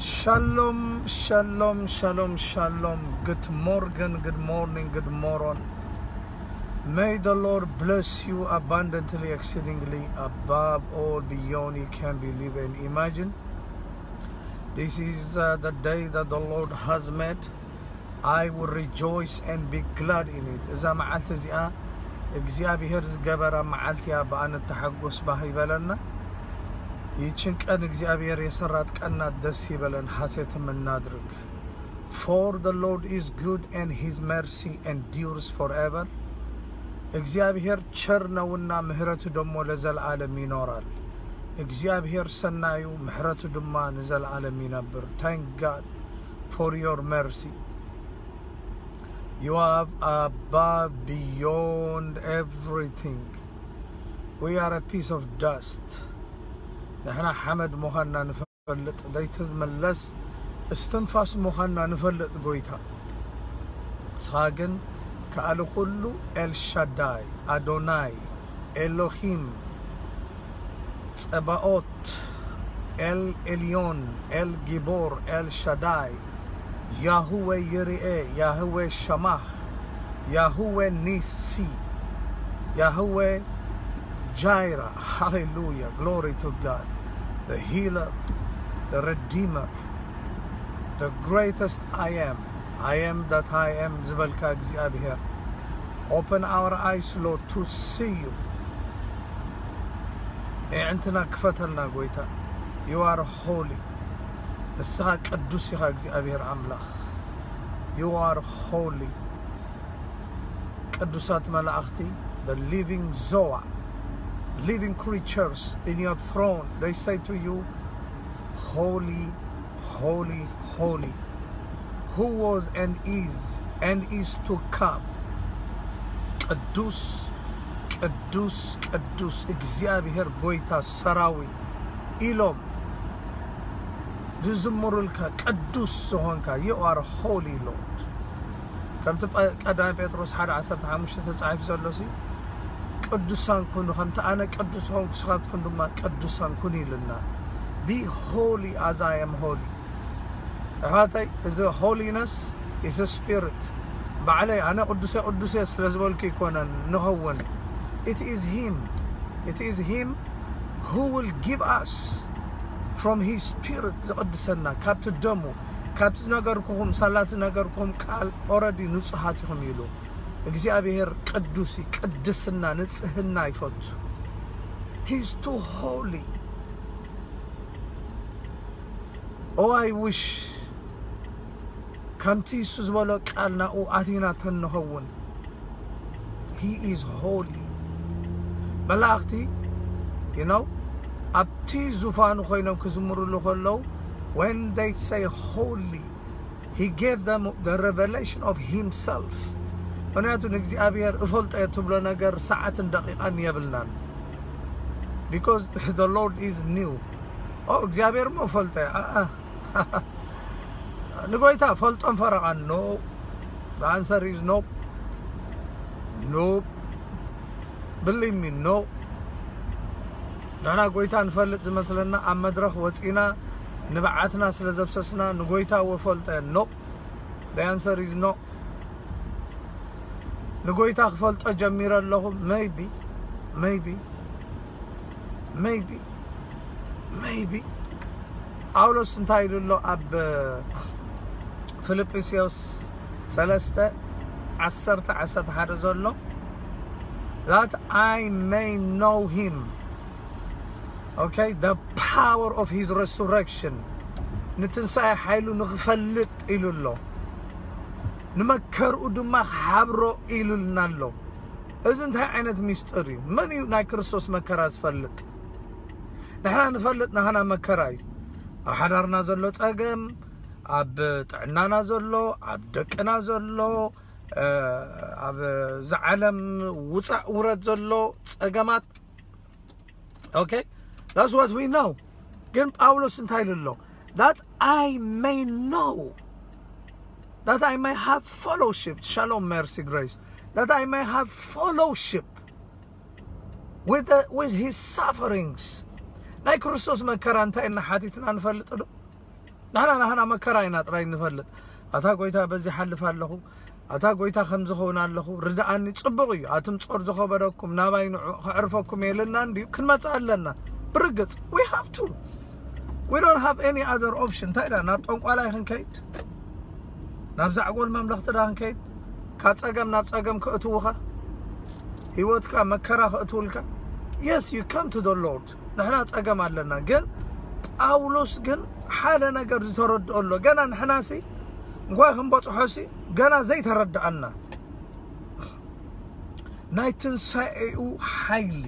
Shalom, shalom, shalom, shalom. Good morning, good morning, good morning. May the Lord bless you abundantly, exceedingly, above all, beyond you can believe and imagine. This is uh, the day that the Lord has made. I will rejoice and be glad in it. እዛ መዓልቲ እዚኣ እግዚኣብሔር ዝገበራ መዓልቲ እያ፣ ብኣ ንተሓጎስ ባህ ይበለና። ይችን ቀን እግዚአብሔር የሰራት ቀን ናት፣ ደስ ይበለን፣ ሐሴትም እናድርግ። For the Lord is good and his mercy endures forever. እግዚአብሔር ቸር ነውና ምህረቱ ደግሞ ለዘለዓለም ይኖራል። እግዚአብሔር ሰናዩ፣ ምህረቱ ድማ ንዘለዓለም ይነብር። Thank God for your mercy. You are above, beyond everything. We are a piece of dust. ንሕና ሓመድ ምዃንና ንፈልጥ፣ ዘይትመለስ እስትንፋስ ምዃንና ንፈልጥ ጎይታ። ንስኻ ግን ከኣሊ ኩሉ፣ ኤልሻዳይ፣ ኣዶናይ፣ ኤሎሂም፣ ጸባኦት፣ ኤል ኤልዮን፣ ኤል ጊቦር፣ ኤል ሻዳይ፣ ያህዌ ይርኤ፣ ያህዌ ሸማህ፣ ያህዌ ኒሲ፣ ያህዌ ጃይራ። Hallelujah, glory to God. The healer, the redeemer, the greatest I am. I am that I am ዝበልካ እግዚኣብሔር። Open our eyes, Lord, to see you. ኣዒንትና ክፈተልና ጎይታ። You are holy. ንስኻ ቅዱስ ኢኻ እግዚኣብሔር ኣምላኽ። You are holy. ቅዱሳት መላእኽቲ፣ the living Zoa, living creatures in your throne, they say to you, Holy, holy, holy, who was and is and is to come. ቅዱስ፣ ቅዱስ፣ ቅዱስ እግዚኣብሔር ጎይታ ሰራዊት ኢሎም ዝዝምሩልካ ቅዱስ ዝኾንካ፣ you are holy Lord። ከምቲ ቀ-፣ ቀዳማይ ጴጥሮስ ሓደ ዓሰርተ ሓሙሽተ ተጻሒፉ ዘሎ ሲ፣ ቅዱሳን ኩኑ፣ ከምቲ ኣነ ቅዱስ ዝኾንኩ ንስኻትኩም ድማ ቅዱሳን ኩኑ ኢሉና። Be holy as I am holy። ኣሕዋተይ፣ እዚ holiness is a spirit። ባዕለይ ኣነ ቅዱሰ ቅዱሰ ስለ ዝበልኩ ይኮነን ንኸውን። It is him. It is him who will give us from his spirit፣ ዝቕድሰና ካብቲ ደሙ፣ ካብቲ ዝነገርኩኹም፣ ሳላ ዝነገርኩኹም ቃል already ንጹሃት ኢኹም ኢሉ። እግዚኣብሔር ቅዱስ እዩ፣ ቅድስና፣ ንጽህና ይፈቱ። He is too holy. Oh, I wish ከምቲ እሱ ዝበሎ ቃል ናብኡ ኣቲና ተንኸውን። He is holy። መላእኽቲ፣ you know፣ ኣብቲ ዙፋኑ ኮይኖም ክዝምሩሉ ከለዉ፣ when they say holy, he gave them the revelation of himself። ምክንያቱ ንእግዚኣብሔር እፈልጦ እየ ትብሎ ነገር ሰዓትን ደቂቃን የብልናን። Because the Lord is new. ኦ እግዚኣብሔር እሞ እፈልጦ እየ። ኣኣ። ንጎይታ ፈልጦን ፈረቓን፣ no። The answer is no. No. Believe me, no። ንሕና ጎይታ ንፈልጥ ዝመስለና ኣብ መድረኽ ወፂና ንብዓትና ስለ ዘፍሰስና ንጎይታ ወፈልጠ፣ no። The answer is no። ንጎይታ ክፈልጦ ጀሚረ ኣለኹ። Maybe, maybe, maybe, maybe። ጳውሎስ እንታይ ኢሉ ኣሎ ኣብ ፊልጵስዮስ ሰለስተ ዓሰርተ ዓሰርተ ሓደ ዘሎ? That I may know him. Okay, the power of his resurrection. ንትንሳኤ ሓይሉ ንኽፈልጥ ኢሉ ኣሎ። ንመከርኡ ድማ ክሓብሮ ኢሉልና ኣሎ። እዚ እንታይ ዓይነት ሚስጥር እዩ? መን እዩ ናይ ክርስቶስ መከራ ዝፈልጥ? ንሕና ንፈልጥ፣ ናህና መከራ እዩ። ኣብ ሓዳርና ዘሎ ጸገም፣ ኣብ ጥዕናና ዘሎ፣ ኣብ ደቅና ዘሎ፣ እ፣ ኣብ ዝዓለም ውጻእ ውረድ ዘሎ ጸገማት። Okay? That's what we know. ግን ጳውሎስ እንታይ ኢሉ ኣሎ? That I may know, that I may have fellowship. Shalom, mercy, grace. That I may have fellowship with, the, with his sufferings. ናይ ክርስቶስ መከራ እንታይ እና ሓቲትና ንፈልጥ ዶ? ንሕና ናህና መከራ ኢና ጥራይ ንፈልጥ። ኣታ ጎይታ በዚ ሓልፍ ኣለኹ፣ ኣታ ጎይታ ከም ዝኸውን ኣለኹ ርድኣኒ። ጽቡቕ እዩ፣ ኣቱም ጾር ዝኸበደኩም ናባይ ንዑ፣ ከዕርፈኩም የለና እንድዩ፣ ክንመጽእ ኣለና። ብርግጽ we have to, we don't have any other option። እንታይ ዳ ናብ ጠንቋላይ ክንከይድ? ናብ ዛዕጎል መምለኽቲ ዳ ክንከይድ? ካብ ጸገም ናብ ጸገም ከእትውኻ፣ ህይወትካ መከራ ከእትውልካ። Yes, you come to the Lord። ንሕና ጸገም ኣለና። ግን ጳውሎስ ግን ሓደ ነገር ዝተረድኦ ኣሎ። ገና ንሕናሲ እንኳይ ክንበጽሖሲ ገና ዘይተረድኣና ናይ ትንሳኤኡ ሓይሊ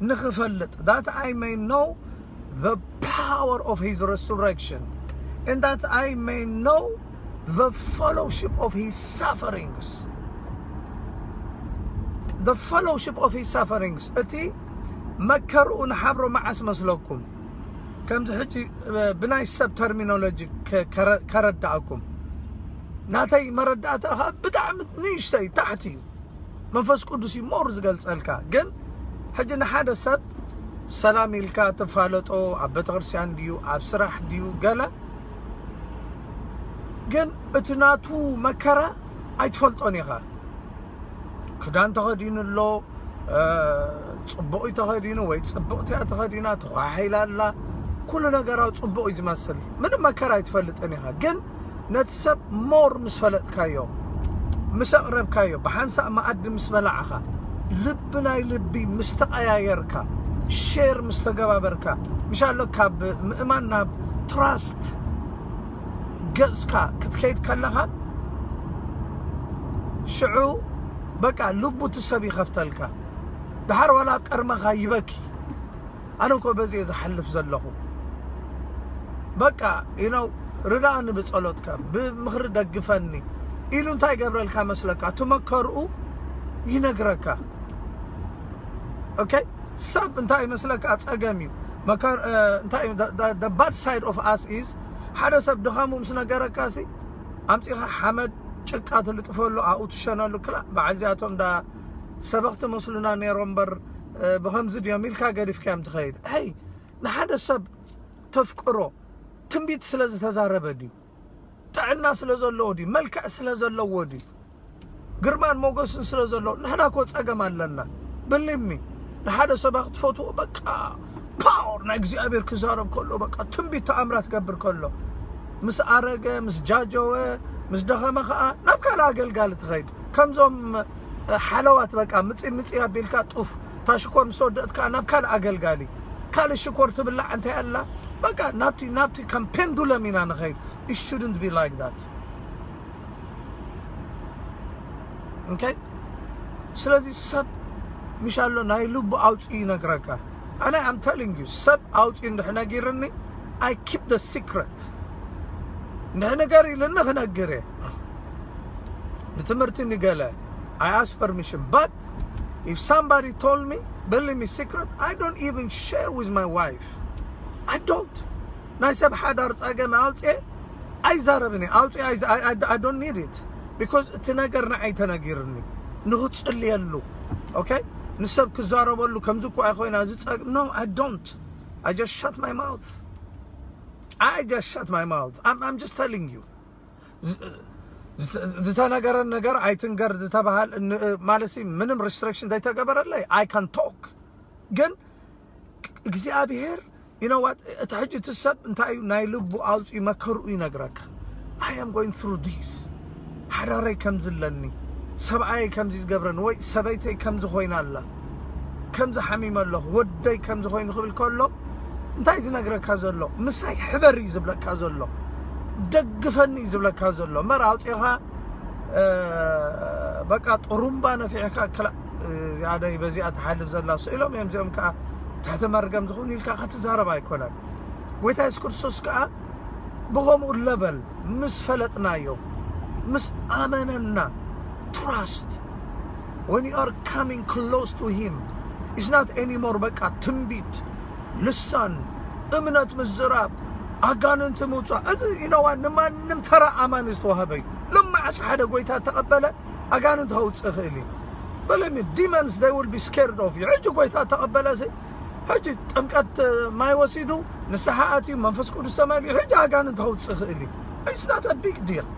ንኽፈልጥ, that I may know the power of his resurrection, and that I may know the fellowship of his sufferings. The fellowship of his sufferings. እቲ መከርኡ ንሓብሮ መዓስ መስለኩም? ከምዚ ሕጂ ብናይ ሰብ ተርሚኖሎጂ ከረዳእኩም፣ ናተይ መረዳእታ ብጣዕሚ ንእሽተይ ታሕቲ እዩ። መንፈስ ቅዱስ እዩ ሞር ዝገልጸልካ። ግን ሕጂ ንሓደ ሰብ ሰላም ኢልካ ትፋለጦ፣ ኣብ ቤተክርስትያን ድዩ ኣብ ስራሕ ድዩ ገለ፣ ግን እቲ ናቱ መከራ ኣይትፈልጦን ኢኻ። ክዳን ተኸዲኑ ኣሎ፣ ጽቡቕ እዩ ተኸዲኑ ወይ ጽብቕቲ እያ ተኸዲና፣ ተኳሒላ ኣላ፣ ኩሉ ነገራዊ ጽቡቕ እዩ ዝመስል። ምንም መከራ ኣይትፈልጥን ኢኻ። ግን ነቲ ሰብ ሞር ምስ ፈለጥካዮ፣ ምስ ኣቕረብካዮ፣ ብሓንሳእ መኣዲ ምስ በላዕኻ፣ ልቢ ናይ ልቢ ምስ ተቐያየርካ፣ ሼር ምስ ተገባበርካ፣ ምሻሎ ካብ ምእማን ናብ ትራስት ገጽካ ክትከይድ ከለኻ፣ ሽዑ በቃ ልቡ እቲ ሰብ ይኸፍተልካ። ድሓር ዋላ ኣብ ቀርመኻ ይበኪ። ኣነ እኮ በዚ እየ ዝሓልፍ ዘለኹ። በቃ you know ርዳእኒ ብጸሎትካ፣ ብምኽሪ ደግፈኒ ኢሉ እንታይ ይገብረልካ መስለካ? እቲ መከርኡ ይነግረካ። ኦኬ፣ ሰብ እንታይ ይመስለካ? ጸገም እዩ። መከር እንታይ bad side of us is ሓደ ሰብ ድኻሙ ምስ ነገረካ ሲ ኣምጺኻ ሓመድ ጭቃ ትልጥፈሉ፣ ኣብኡ ትሸነሉ። ክላ በዓል እዚኣቶም ዳ ሰበኽቲ መስሉና ነይሮም እምበር ብኸምዚ ድዮም ኢልካ ገዲፍካዮም ትኸይድ። ሄይ፣ ንሓደ ሰብ ተፍቅሮ ትንቢት ስለ ዝተዛረበ ድዩ? ጥዕና ስለ ዘለዎ ድዩ? መልክዕ ስለ ዘለዎ ድዩ? ግርማን ሞገስን ስለ ዘለዎ? ንሕና እኮ ጸገም ኣለና። ብሊሚ ንሓደ ሰብ ክትፈትዎ በቃ ፓወር ናይ እግዚኣብሔር ክዛረብ ከሎ በቃ ትንቢት ተኣምራት ገብር ከሎ ምስ ኣረገ ምስ ጃጀወ ምስ ደኸመ ከዓ ናብ ካልእ ኣገልጋሊ ትኸይድ። ከምዞም ሓለዋት በቃ ምፂ ምፂ ኣቢልካ ጡፍ ታሽኮር ምስ ወደእት ከዓ ናብ ካልእ ኣገልጋሊ ካልእ ሽኮር ትብላዕ እንታይ ኣላ በቃ ናብቲ ናብቲ ከም ፔንዱለም ኢና ንኸይድ። It shouldn't be like that. Okay? ስለዚ ሰብ ምሻሎ ናይ ልቡ ኣውፅኡ ይነግረካ። ኣነ I'm telling you ሰብ ኣውፅኡ እንድሕ ነጊርኒ I keep the secret። እንድሕ ነገር ኢልኒ ክነግር እየ። ንትምህርቲ ንገለ I ask permission, but if somebody told me believe me secret I don't even share with my wife. I don't ናይ ሰብ ሓዳር ጸገም ኣውጽኤ ኣይዛረብን እየ። ኣውጽኤ I don't need it because እቲ ነገር ንዓይ ተነጊርኒ ንኽጽልየሉ okay ንሰብ ክዛረበሉ ከምዚ እኮ ኣይኮይና እዚ ጸገም no I don't. I just shut my mouth. I just shut my mouth. I'm, I'm just telling you ዝተነገረን ነገር ኣይትንገር ዝተባሃል ማለት ምንም restriction ዘይተገበረለይ I can talk ግን እግዚኣብሔር you know what እቲ ሕጂ እቲ ሰብ እንታይ እዩ ናይ ልቡ ኣውፅኡ መከርኡ ይነግረካ። I am going through this ሓዳረይ ከምዚ ኣለኒ ሰብኣየይ ከምዚ ዝገብረኒ ወይ ሰበይተይ ከምዚ ኮይና ኣላ ከምዚ ሓሚመ ኣለኹ ወደይ ከምዚ ኮይኑ ክብል ከሎ እንታይ ዝነግረካ ዘሎ ምሳይ ሕበር እዩ ዝብለካ ዘሎ ደግፈኒ እዩ ዝብለካ ዘሎ መር ኣውፅኻ በቃ ጥሩምባ ነፊሕካ ክላ እዚኣ ደይ በዚኣ ትሓልፍ ዘላ ስኢሎም እዮም እዚኦም ከዓ ትሕቲ መርገም ዝኾኑ ኢልካ ክትዛረብ ኣይኮነን። ጎይታ የሱስ ክርስቶስ ከዓ ብኸምኡ ለቨል ምስ ፈለጥናዮ ምስ ኣመነና trust when you are coming close to him is not anymore በቃ ትንቢት ልሳን እምነት ምዝራብ ኣጋንንቲ ምውፃእ እዚ ኢነዋ ንማንም ተራ ኣማኒ ዝተዋህበ እዩ። ልመዓልቲ ሓደ ጎይታ ተቐበለ ኣጋንንቲ ከውፅእ ይኽእል እዩ። በለሚ demons they will be scared of you። ሕጂ ጎይታ ተቐበለ እዚ ሕጂ ጥምቀት ማይ ወሲዱ ንስሓ ኣትዩ መንፈስ ቅዱስ ተመልዩ ሕጂ ኣጋንንት ከውፅእ ይኽእል እዩ። It's not a big deal።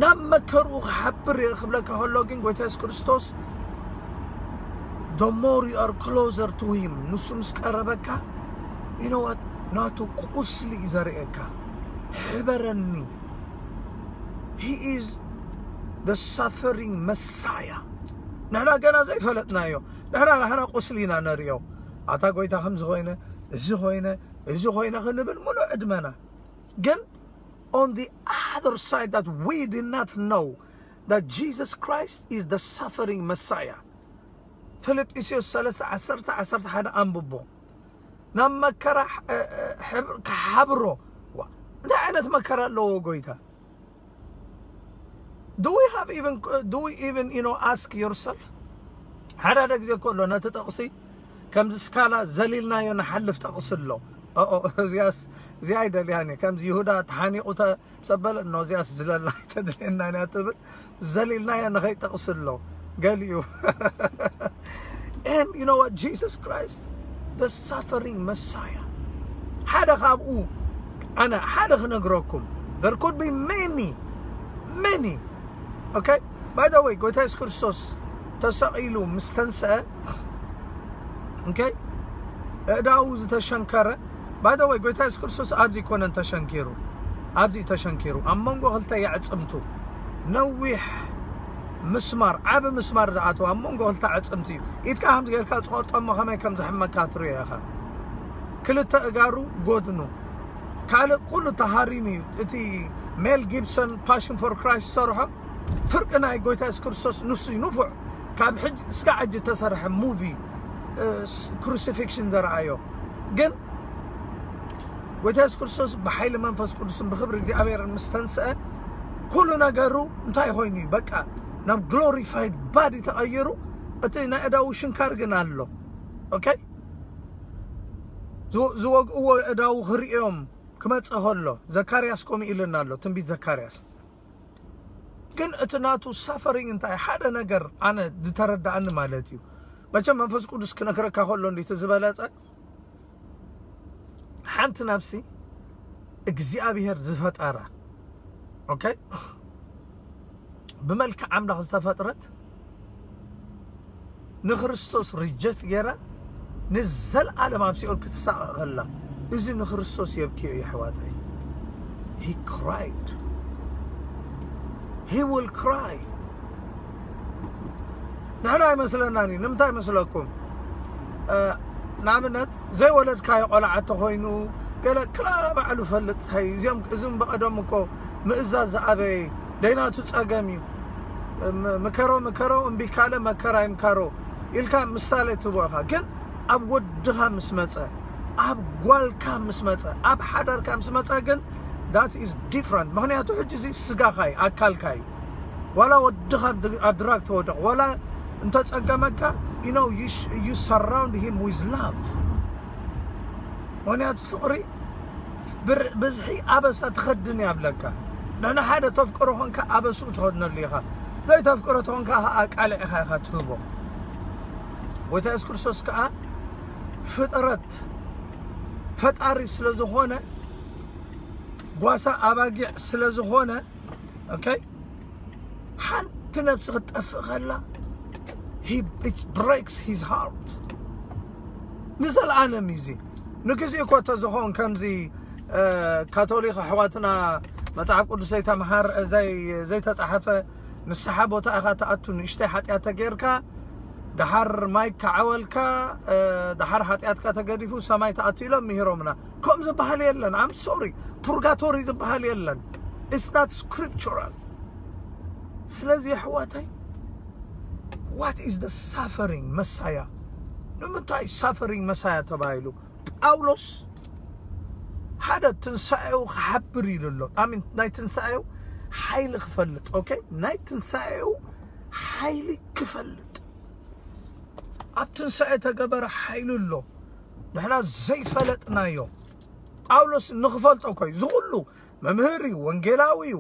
ናብ መከርኡ ክሓብር እየ ክብለካ ከሎ ግን ጎይታ የሱስ ክርስቶስ the more you are closer to him ንሱ ምስ ቀረበካ you know what ናቱ ቁስሊ እዩ ዘርእየካ። ሕበረኒ። He is the suffering Messiah። ንሕና ገና ዘይፈለጥናዮ ንሕና ናህና ቁስሊ ኢና ነርእዮ። ኣታ ጎይታ ከምዚ ኮይነ እዚ ኮይነ እዚ ኮይነ ክንብል ሙሉእ ዕድመና ግን on the other side that we did not know that Jesus Christ is the suffering Messiah። ፊልጵስዩስ ሰለስተ ዓሰርተ ዓሰርተ ሓደ ኣንብቦ። ናብ መከራ ክሓብሮ እንታይ ዓይነት መከራ ኣለዎ ጎይታ? Do we have even do we even you know ask yourself ሓደ ሓደ ግዜ ከሎ ነቲ ጥቕሲ ከምዚ ስካላ ዘሊልናዮ ንሓልፍ ጥቕሲ ኣሎ። እዚኣስ እዚኣ ኣይደልያን እየ። ከምዚ ይሁዳ ተሓኒቑ ሰበለ እኖ እዚኣስ ዝለላ ኣይተድልየናን እያ ትብል ዘሊልናዮ ንኸይጠቕሲ ኣሎ ገሊኡ። And you know what? Jesus Christ, the suffering Messiah ሓደ ካብኡ ኣነ ሓደ ክነግረኩም there could be many many okay by the way ጎይታ የሱስ ክርስቶስ ተሰቒሉ ምስ ተንስአ okay እዳው ዝተሸንከረ by the way ጎይታ የሱስ ክርስቶስ ኣብዚ ኮነን ተሸንኪሩ ኣብዚ ተሸንኪሩ ኣብ መንጎ ክልተ የዕፅምቱ ነዊሕ ምስማር ዓቢ ምስማር ዝኣተው ኣብ መንጎ ክልተ ኣዕፅምቲ እዩ። ኢድካ ከምዚ ጌርካ ዝቆርጦ እሞ ከመይ ከም ዝሕመካ ትሪኦ ኢኻ። ክልተ እጋሩ ጎድኑ ካልእ ኩሉ ተሃሪሙ እዩ። እቲ ሜል ጊብሰን ፓሽን ፎር ክራይስት ዝሰርሖ ፍርቂ ናይ ጎይታ የሱስ ክርስቶስ ንሱ እዩ ንፉዕ ካብ ሕጂ እስካ ሕጂ እተሰርሐ ሙቪ ክሩሲፊክሽን ዘረኣዮ ግን ጎይታ የሱስ ክርስቶስ ብሓይሊ መንፈስ ቅዱስን ብክብሪ እግዚኣብሔርን ምስ ተንስአ ኩሉ ነገሩ እንታይ ኮይኑ እዩ በቃ ናብ ግሎሪፋይድ ባዲ ተቐይሩ እቲ ናይ እዳዉ ሽንካር ግን ኣሎ okay ዝወግእዎ እዳዉ ክርእዮም ክመፀ ከሎ ዘካርያስ ከምኡ ኢልና ኣሎ ትንቢት ዘካርያስ ግን እቲ ናቱ ሳፈሪንግ እንታይ ሓደ ነገር ኣነ ዝተረዳእኒ ማለት እዩ መቸም መንፈስ ቅዱስ ክነግረካ ከሎ እንዲቲ ዝበለፀ ሓንቲ ነብሲ እግዚኣብሔር ዝፈጠራ okay ብመልክዕ ኣምላኽ ዝተፈጥረት ንክርስቶስ ሪጀክት ገይራ ንዘለኣለም ኣብ ሲኦል ክትሳቐቕ ከላ እዚ ንክርስቶስ የብክዮ እዩ ኣሕዋተይ he cried he will cry ንሕና ኣይመስለናን እዩ ንምንታይ መስለኩም ንኣብነት ዘይወለድካዮ ቆልዓ እንተኮይኑ ገለ ክላ ባዕሉ ፈልጥ ታይ እዚኦም እዝም ብቀደም እኮ ምእዛዝ ዝኣበየ ደይናቱ ጸገም እዩ ምከሮ ምከሮ እምቢ ካለ መከራ ይምከሮ ኢልካ ምሳሌ ትቦ ኢኻ ግን ኣብ ወድኻ ምስ መጸ ኣብ ጓልካ ምስ መጸ ኣብ ሓዳርካ ምስ መጸ ግን that is different ምክንያቱ ሕጂ እዚ ስጋኻ እዩ ኣካልካ እዩ ዋላ ወድኻ ኣብ ድራግ ተወደቕ ዋላ እንተጸገመካ you know you, sh- you surround him with love ምክንያቱ ፍቕሪ ብር- ብዝሒ ኣበሳ ትኸድን እያ ብለካ ንሕና ሓደ ተፍቅሮ ኾንካ ኣበስኡ ትኸድነሉ ኢኻ ዘይተፍቅሮ ተኾንካ ከዓ ቃልዕ ኢኻ ኢኻ ትህቦ ጎይታ የሱስ ክርስቶስ ከዓ ፍጥረት ፈጣሪ ስለ ዝኾነ ጓሳ ኣባጊዕ ስለ ዝኾነ okay ሓንቲ ነብሲ ክትጠፍእ ከላ he it breaks his heart ንዘለኣለም እዩ እዚ ንግዜ እኮ ተዝኸውን ከምዚ ካቶሊክ ኣሕዋትና መፅሓፍ ቅዱስ ዘይተምሃር ዘይተፃሓፈ ንስሓ ቦታ ኢኻ ትኣቱ ንእሽተይ ሓጢኣት ተጌርካ ደሓር ማይ ከዓወልካ ደሓር ሓጢኣትካ ተገዲፉ ሰማይ ትኣቱ ኢሎም ምሂሮምና ከም ዝበሃል የለን I'm sorry purgatory ዝበሃል የለን it's not scriptural ስለዚ ኣሕዋተይ what is the suffering Messiah ንምንታይ suffering Messiah ተባሂሉ ጳውሎስ ሓደ ትንሳኤው ክሓብር ኢሉ ኣሎ ኣሚን ናይ ትንሳኤው ሓይሊ ክፈልጥ okay ናይ ትንሳኤው ሓይሊ ክፈልጥ ኣብ ትንሳኤ ተገበረ ሓይሉ ኣሎ ንሕና ዘይፈለጥናዮ ጳውሎስ ንኽፈልጦ ኮይ ዝኹሉ መምህር እዩ ወንጌላዊ እዩ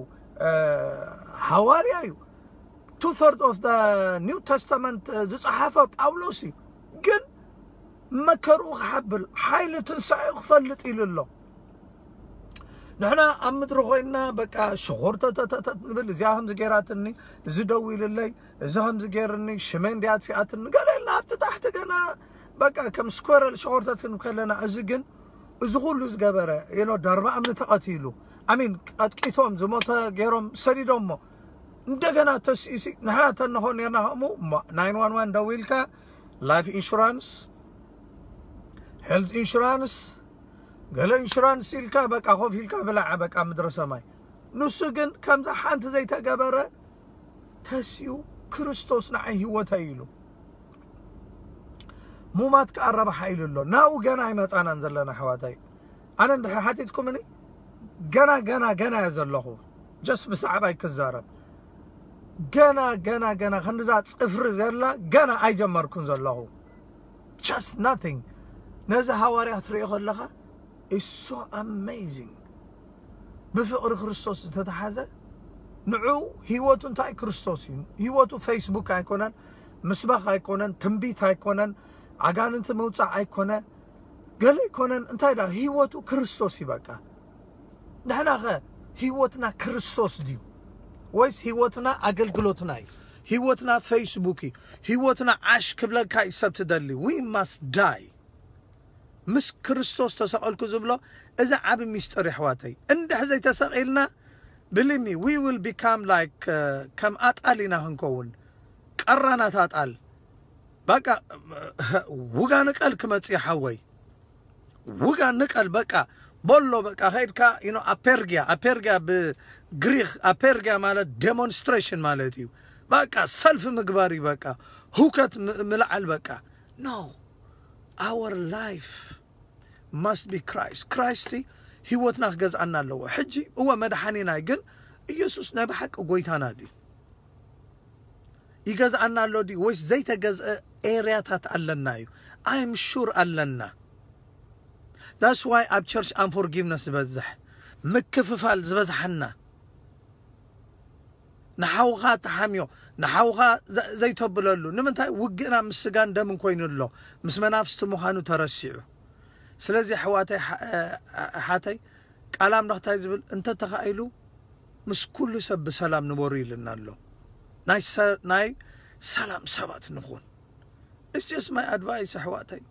ሃዋርያ እዩ two third of the new testament ዝፀሓፈ ጳውሎስ እዩ ግን መከርኡ ክሓብል፣ ሓይሊ ትንሳኤኡ ክፈልጥ ኢሉ ኣሎ። ንሕና ኣብ ምድሪ ኮይንና በቃ ሽኾርተተተተት ንብል፣ እዚኣ ከምዚ ገይራትኒ፣ እዚ ደው ኢልለይ፣ እዚ ከምዚ ገይርኒ፣ ሽመይ እንዲያ ኣጥፊኣትኒ፣ ገለ ኢልና ኣብቲ ታሕቲ ገና በቃ ከም ስኮረል ሽኾርተት ክንብል ከለና፣ እዚ ግን፣ እዚ ኩሉ ዝገበረ፣ you know፣ ዳርባ እምኒ ተቐቲሉ፣ ኣሚን፣ ቀጥቂቶም ዝሞተ ገይሮም ሰዲዶሞ፣ እንደገና ተሲእሲ፣ ንሕና ተንኾን ነርና ከምኡ፣ እሞ፣ ናይን ዋን ዋን ደዊልካ፣ ላይፍ ኢንሹራንስ፣ ሄልት ኢንሹራንስ፣ ገለ ኢንሹራንስ ኢልካ፣ በቃ ኮፍ ኢልካ ብላዓ፣ በቃ ምድረ ሰማይ። ንሱ ግን ከምዛ ሓንቲ ዘይተገበረ ተሲኡ፣ ክርስቶስ ንዓይ ህይወተይ ኢሉ። ሙማት ከኣ ረብሓ ኢሉ ኣሎ። ናብኡ ገና ኣይመጻናን ዘለና ኣሕዋተይ። ኣነ እንድሕር ሓቲትኩምኒ፣ ገና፣ ገና፣ ገና እየ ዘለኹ። ጀስት ብዛዕባይ ክዛረብ። ገና፣ ገና፣ ገና፣ ክንድዛ ጽፍሪ ዘላ ገና ኣይጀመርኩን ዘለኹ። Just nothing። ነዚ ሃዋርያ ክትሪኦ ከለኻ፣ it's so amazing። ብፍቕሪ ክርስቶስ ዝተተሓዘ፣ ንዑ ህይወቱ እንታይ? ክርስቶስ እዩ። ህይወቱ ፌስቡክ ኣይኮነን፣ ምስባኽ ኣይኮነን፣ ትንቢት ኣይኮነን፣ ኣጋንንቲ ምውጻእ ኣይኮነ፣ ገለ ኣይኮነን። እንታይ ዳ ህይወቱ ክርስቶስ እዩ በቃ። ንሕናኸ ህይወትና ክርስቶስ ድዩ? ወይስ ህይወትና ኣገልግሎትና እዩ? ህይወትና ፌስቡክ እዩ? ህይወትና ዓሽ ክብለካ እዩ ሰብ ትደሊ? We must die። ምስ ክርስቶስ ተሰቐልኩ ዝብሎ፣ እዚ ዓቢ ሚስጥር የሕዋተይ። እንድሕ ዘይተሰቒልና፣ believe me, we will become like፣ ከም ኣጣል ኢና ክንከውን። ቀራናት ኣጣል። በቃ፣ ውጋ ንቀል ክመጽእ ሓወይ። ውጋ ንቀል በቃ። ቦሎ በቃ፣ ከይድካ፣ you know፣ ኣፔርጊያ፣ ኣፔርጊያ ብግሪክ፣ ኣፔርጊያ ማለት ዴሞንስትሬሽን ማለት እዩ። በቃ ሰልፍ ምግባር እዩ በቃ። ሁከት ም-፣ ምልዓል በቃ። No። Our life must be Christ። ክራይስት ህይወትና ክገዝኣና ኣለዎ። ሕጂ እወ መድሓኒና እዩ፣ ግን ኢየሱስ ናይ ብሓቂ ጎይታና ድዩ? ይገዝኣና ኣሎ ድዩ? ወይስ ዘይተገዝአ ኤርያታት ኣለና እዩ? I'm sure ኣለና። That's why ኣብ ቸርች ኣንፎርጊቭነስ ዝበዝሕ፣ ምክፍፋል ዝበዝሓና። ንሓውኻ ተሓምዮ፣ ንሓውኻ ዘ-፣ ዘይተብለሉ። ንምንታይ? ውግእና ምስ ስጋን ደምን ኮይኑ ኣሎ፣ ምስ መናፍስቲ ምዃኑ ተረሲዑ። ስለዚ ኣሕዋተይ፣ ሓ-፣ ኣሓተይ፣ ቃል ኣምላኽ እንታይ ዝብል? እንተ ተኻኢሉ ምስ ኩሉ ሰብ ብሰላም ንበሩ ኢልና ኣሎ። ናይ ሰ-፣ ናይ ሰላም ሰባት ንኹን። It's just my advice ኣሕዋተይ።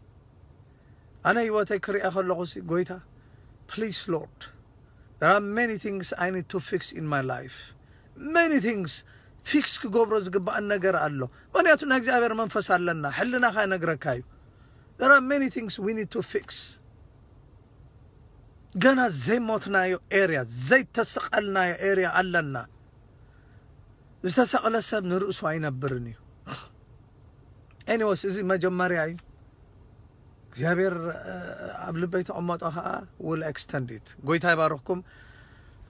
ኣነ ህይወተይ ክሪኣ ከለኹ ሲ፣ ጎይታ፣ please Lord, there are many things I need to fix in my life. Many things ፊክስ ክገብሮ ዝግባኣን ነገር ኣሎ። ምኽንያቱ ናይ እግዚኣብሔር መንፈስ ኣለና፣ ሕልናኻ ይነግረካ እዩ። There are many things we need to fix። ገና ዘይሞትናዮ ኤርያ፣ ዘይተሰቐልናዮ ኤርያ ኣለና። ዝተሰቕለ ሰብ ንርእሱ ኣይነብርን እዩ። ኤኒወስ፣ እዚ መጀመርያ እዩ። እግዚኣብሔር፣ እ፣ ኣብ ልበይ ተቐመጦ ኸዓ will extend it። ጎይታ ይባርኽኩም።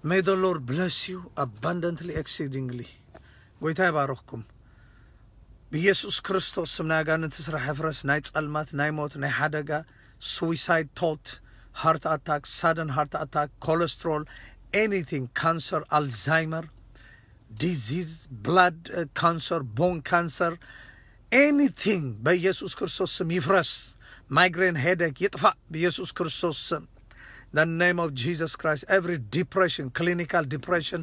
May the Lord bless you abundantly, exceedingly። ጎይታ ይባርኽኩም። ብኢየሱስ ክርስቶስ ስም ናይ ኣጋንንቲ ስራሕ ይፍረስ፣ ናይ ጸልማት፣ ናይ ሞት፣ ናይ ሓደጋ፣ suicide thought፣ heart attack፣ sudden heart attack፣ cholesterol፣ anything፣ cancer፣ Alzheimer disease፣ blood፣ እ፣ cancer፣ bone cancer፣ anything በኢየሱስ ክርስቶስ ስም ይፍረስ። ማይግሬን፣ ሄደክ ይጥፋእ ብኢየሱስ ክርስቶስ ስም። The name of Jesus Christ, every depression, clinical depression,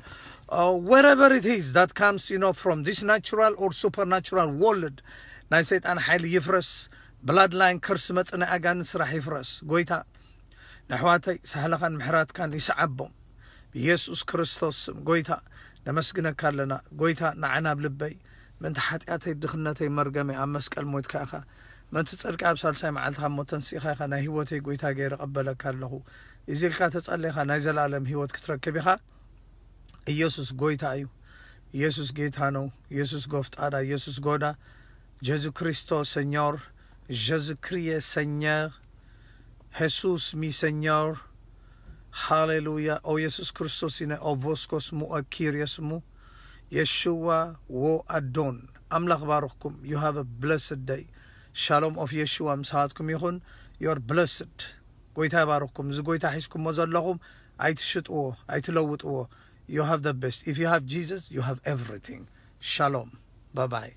uh, wherever it is that comes, you know, from this natural or supernatural world፣ ናይ ሰይጣን ሓይሊ ይፍረስ። ብላድ ላይን ከርስ መጽእ፣ ናይ ኣጋንንት ስራሕ ይፍረስ። ጎይታ፣ ንኣሕዋተይ ሳህልኻን ምሕረትካን ይስዓቦም። ብኢየሱስ ክርስቶስ ስም፣ ጎይታ፣ ነመስግነካ ኣለና። ጎይታ፣ ንዓና ኣብ ልበይ፣ ምእንቲ ሓጢኣተይ፣ ድኽነተይ፣ መርገመይ ኣብ መስቀል ሞትካ ኢኻ። ምእንቲ ጽድቂ ኣብ ሳልሳይ መዓልቲ ካብ ሞት ተንሲእካ ኢኻ። ናይ ህይወተይ ጎይታ ገይረ እቐበለካ ኣለኹ። እዚ ኢልካ ተጸለይካ ናይ ዘላለም ህይወት ክትረክብ ኢኻ። ኢየሱስ ጎይታ እዩ። ኢየሱስ ጌታ ነው። ኢየሱስ ጎፍጣዳ፣ ኢየሱስ ጎዳ። ጀሱ ክሪስቶ ሰኞር፣ ጀሱ ክሪየ ሰኘር፣ ሄሱስ ሚ ሰኞር። ሃሌሉያ። ኦ ኢየሱስ ክርስቶስ ኢነ ኦቮስኮስ ሙ ኪሪየስ ሙ የሽዋ ዎ ኣዶን። ኣምላኽ ባርኽኩም። You have a blessed day። ሻሎም ኦፍ የሽዋ ምሳኻትኩም ይኹን። You're blessed። ጎይታ ይባርኽኩም። እዚ ጎይታ ሒዝኩሞ ዘለኹም ኣይትሽጥዎ፣ ኣይትለውጥዎ። You have the best. If you have Jesus, you have everything. ሻሎም። ባይ ባይ።